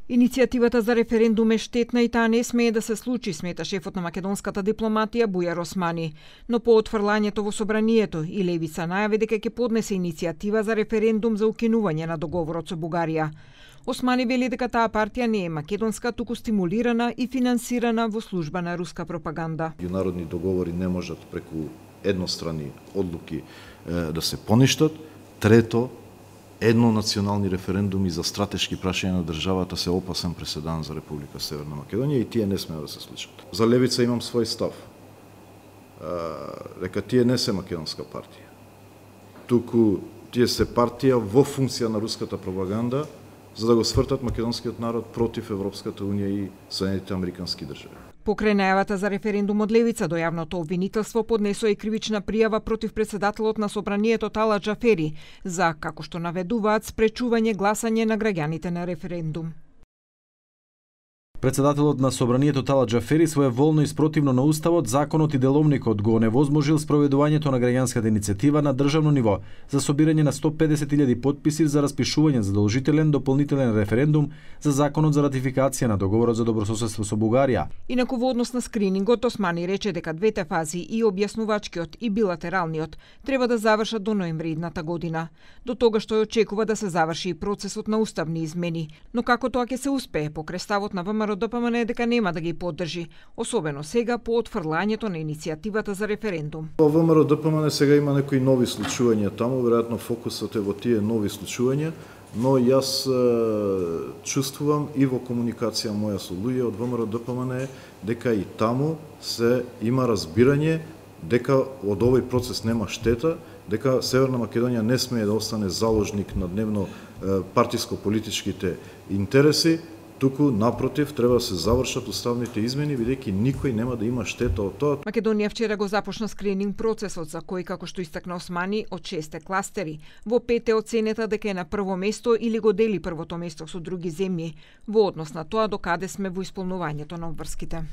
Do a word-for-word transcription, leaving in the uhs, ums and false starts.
Иницијативата за референдум е штетна и таа не смее да се случи, смета шефот на македонската дипломатија Бујар Османи. Но по отфрлањето во собранието и Левица најави дека ќе поднесе иницијатива за референдум за укинување на договорот со Бугарија. Османи вели дека таа партија не е македонска, туку стимулирана и финансирана во служба на руска пропаганда. Меѓународни договори не можат преку еднострани одлуки да се поништат. Трето, еднонационални референдуми за стратешки прашања на државата се опасен преседан за Република Северна Македонија и тие не смеа да се случат. За Левица имам свој став. Дека тие не се македонска партија. Туку тие се партија во функција на руската пропаганда за да го свртат македонскиот народ против Европската унија и Соединетите американски држави. Покрај најавата за референдум од Левица до јавното обвинителство поднесо и кривична пријава против претседателот на собранието Талат Џафери за, како што наведуваат, спречување гласање на граѓаните на референдум. Претседателот на собранието Талат Џафери своеволно и спротивно на уставот, законот и деловникот го оневозможил спроведувањето на граѓанската иницијатива на државно ниво за собирање на сто педесет илјади потписи за распишување задолжителен дополнителен референдум за законот за ратификација на договорот за добрососедство со Бугарија. Инаку во однос на скринингот, Османи рече дека двете фази, и објаснувачкиот и билатералниот, треба да завршат до ноември идната година. До тогаш тој очекува да се заврши и процесот на уставни измени, но како тоа ќе се успее покрај ставот на ВМРО ДПМН е дека нема да ги поддржи, особено сега по отфрлањето на иницијативата за референдум. Во ВМРО ДПМН сега има некои нови случувања таму, веројатно фокусот е во тие нови случувања, но јас е, чувствувам и во комуникација моја со луѓе од ВМРО ДПМН дека и таму се има разбирање дека од овој процес нема штета, дека Северна Македонија не смее да остане заложник на дневно партиско-политичките интереси, туку напротив треба да се завршат уставните измени, бидејќи никој нема да има штета од тоа. Македонија вчера го започна скрининг процесот за кој, како што истакна Османи, од шесте кластери. Во пет е оценета дека е на прво место или го дели првото место со други земји, во однос на тоа докаде сме во исполнувањето на обврските.